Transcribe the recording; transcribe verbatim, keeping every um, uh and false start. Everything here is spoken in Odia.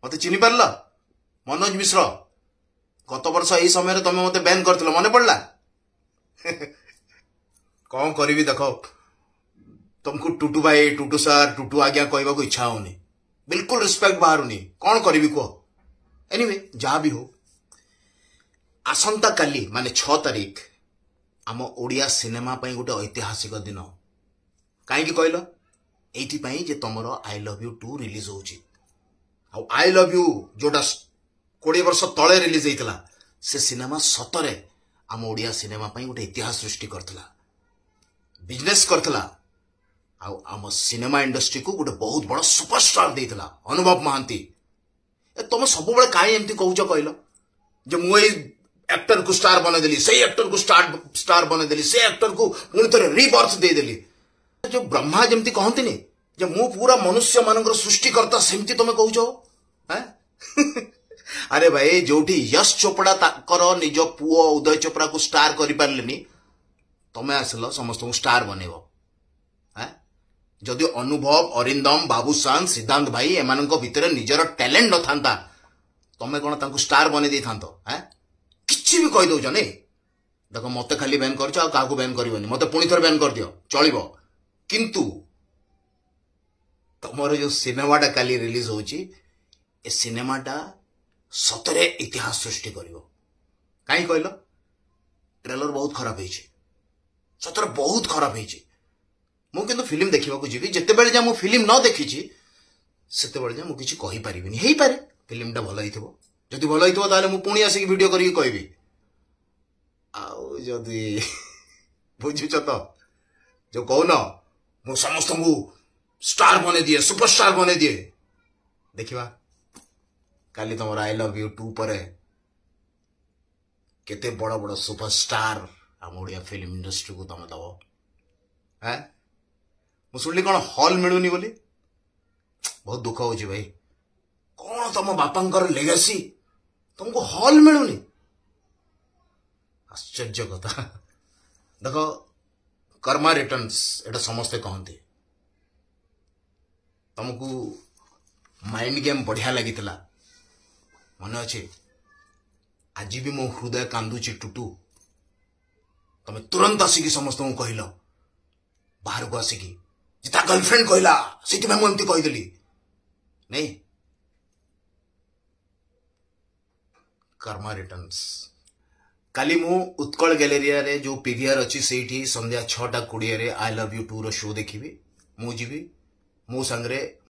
ମତେ ଚିହ୍ନି ପାରିଲ? ମନୋଜ ମିଶ୍ର। ଗତ ବର୍ଷ ଏଇ ସମୟରେ ତମେ ମତେ ବ୍ୟାନ୍ କରିଥିଲ, ମନେ ପଡ଼ିଲା? କଣ କରିବି ଦେଖ, ତମକୁ ଟୁଟୁ ଭାଇ, ଟୁଟୁ ସାର୍, ଟୁଟୁ ଆଜ୍ଞା କହିବାକୁ ଇଚ୍ଛା ହଉନି, ବିଲକୁଲ ରେସ୍ପେକ୍ଟ ବାହାରୁନି। କଣ କରିବି କୁହ? ଏନିୱେ, ଯାହା ବି ହଉ, ଆସନ୍ତାକାଲି ମାନେ ଛଅ ତାରିଖ ଆମ ଓଡ଼ିଆ ସିନେମା ପାଇଁ ଗୋଟେ ଐତିହାସିକ ଦିନ। କାହିଁକି କହିଲ? ଏଇଥିପାଇଁ ଯେ ତମର I love you two release ହଉଛି। ଆଉ I love you ଯୋଉଟା କୋଡ଼ିଏ ବର୍ଷ ତଳେ ରିଲିଜ ହେଇଥିଲା, ସେ ସିନେମା ସତରେ ଆମ ଓଡ଼ିଆ ସିନେମା ପାଇଁ ଗୋଟେ ଇତିହାସ ସୃଷ୍ଟି କରିଥିଲା, ବିଜନେସ୍ କରିଥିଲା, ଆଉ ଆମ ସିନେମା ଇଣ୍ଡଷ୍ଟ୍ରିକୁ ଗୋଟେ ବହୁତ ବଡ଼ ସୁପରଷ୍ଟାର ଦେଇଥିଲା, ଅନୁଭବ ମହାନ୍ତି। ଏ ତମେ ସବୁବେଳେ କାହିଁ ଏମିତି କହୁଛ କହିଲ, ଯେ ମୁଁ ଏଇ ଆକ୍ଟରକୁ ଷ୍ଟାର ବନେଇଦେଲି, ସେଇ ଆକ୍ଟରକୁ ଷ୍ଟାର ଷ୍ଟାର ବନେଇଦେଲି, ସେ ଆକ୍ଟରକୁ ପୁଣି ଥରେ ରିବର୍ଥ ଦେଇଦେଲି? ଯୋଉ ବ୍ରହ୍ମା ଯେମିତି କହନ୍ତିନି ଯେ ମୁଁ ପୁରା ମନୁଷ୍ୟ ମାନଙ୍କର ସୃଷ୍ଟିକର୍ତ୍ତା, ସେମିତି ତମେ କହୁଛ। ଆରେ ଭାଇ, ଯୋଉଠି ୟଶ ଚୋପଡ଼ା ତାଙ୍କର ନିଜ ପୁଅ ଉଦୟ ଚୋପ୍ରାକୁ ଷ୍ଟାର କରିପାରିଲେନି, ତମେ ଆସିଲ ସମସ୍ତଙ୍କୁ ଷ୍ଟାର ବନେଇବ। ଯଦି ଅନୁଭବ, ଅରିନ୍ଦମ, ବାବୁସାନ, ସିଦ୍ଧାନ୍ତ ଭାଇ ଏମାନଙ୍କ ଭିତରେ ନିଜର ଟ୍ୟାଲେଣ୍ଟ ନଥାନ୍ତା, ତମେ କଣ ତାଙ୍କୁ ଷ୍ଟାର ବନେଇ ଦେଇଥାନ୍ତ? କିଛି ବି କହିଦଉଛ ନାଇଁ? ଦେଖ, ମତେ ଖାଲି ବ୍ୟାନ୍ କରିଛ, ଆଉ କାହାକୁ ବ୍ୟାନ୍ କରିବନି। ମତେ ପୁଣି ଥରେ ବ୍ୟାନ୍ କରିଦିଅ, ଚଳିବ। କିନ୍ତୁ ତମର ଯୋଉ ସିନେମାଟା କାଲି ରିଲିଜ ହଉଛି, ଏ ସିନେମାଟା ସତରେ ଇତିହାସ ସୃଷ୍ଟି କରିବ। କାହିଁ କହିଲ? ଟ୍ରେଲର ବହୁତ ଖରାପ ହେଇଛି, ସତରେ ବହୁତ ଖରାପ ହେଇଛି। ମୁଁ କିନ୍ତୁ ଫିଲ୍ମ ଦେଖିବାକୁ ଯିବି। ଯେତେବେଳେ ଯାଏ ମୁଁ ଫିଲ୍ମ ନ ଦେଖିଛି, ସେତେବେଳେ ଯାଏ ମୁଁ କିଛି କହିପାରିବିନି। ହେଇପାରେ ଫିଲ୍ମଟା ଭଲ ହେଇଥିବ। ଯଦି ଭଲ ହେଇଥିବ, ତାହେଲେ ମୁଁ ପୁଣି ଆସିକି ଭିଡ଼ିଓ କରିକି କହିବି। ଆଉ ଯଦି, ବୁଝୁଛ ତ, ଯୋଉ କହୁନ ମୁଁ ସମସ୍ତଙ୍କୁ ଷ୍ଟାର ବନେଇ ଦିଏ, ସୁପରଷ୍ଟାର ବନେଇ ଦିଏ, ଦେଖିବା କାଲି ତମର I love you two ପରେ କେତେ ବଡ଼ ବଡ଼ ସୁପରଷ୍ଟାର ଆମ ଓଡ଼ିଆ ଫିଲ୍ମ ଇଣ୍ଡଷ୍ଟ୍ରିକୁ ତମେ ଦବ। ଆଁ, ମୁଁ ଶୁଣିଲି କଣ ହଲ୍ ମିଳୁନି ବୋଲି। ବହୁତ ଦୁଃଖ ହଉଛି ଭାଇ। କଣ ତମ ବାପାଙ୍କର ଲେଗାସି, ତମକୁ ହଲ୍ ମିଳୁନି? ଆଶ୍ଚର୍ଯ୍ୟ କଥା। ଦେଖ, କର୍ମା ରିଟର୍ଣ୍ଣସ୍, ଏଟା ସମସ୍ତେ କହନ୍ତି। ତମକୁ ମାଇଣ୍ଡ ଗେମ୍ ବଢିଆ ଲାଗିଥିଲା, ମନେ ଅଛି? ଆଜି ବି ମୋ ହୃଦୟ କାନ୍ଦୁଛି ଟୁଟୁ। ତମେ ତୁରନ୍ତ ଆସିକି ସମସ୍ତଙ୍କୁ କହିଲ ବାହାରକୁ ଆସିକି ଯେ ତା ଗର୍ଲଫ୍ରେଣ୍ଡ କହିଲା, ସେଇଥିପାଇଁ ମୁଁ ଏମିତି କହିଦେଲି। ନାଇଁ, କର୍ମା ରିଟର୍ଣ୍ଣସ୍। କାଲି ମୁଁ ଉତ୍କଳ ଗ୍ୟାଲେରିଆରେ ଯୋଉ ପିଭିଆର ଅଛି, ସେଇଠି ସନ୍ଧ୍ୟା ଛଅଟା କୋଡ଼ିଏରେ I love you tour show ଦେଖିବି। ମୁଁ ଯିବି, ମୋ ସାଙ୍ଗରେ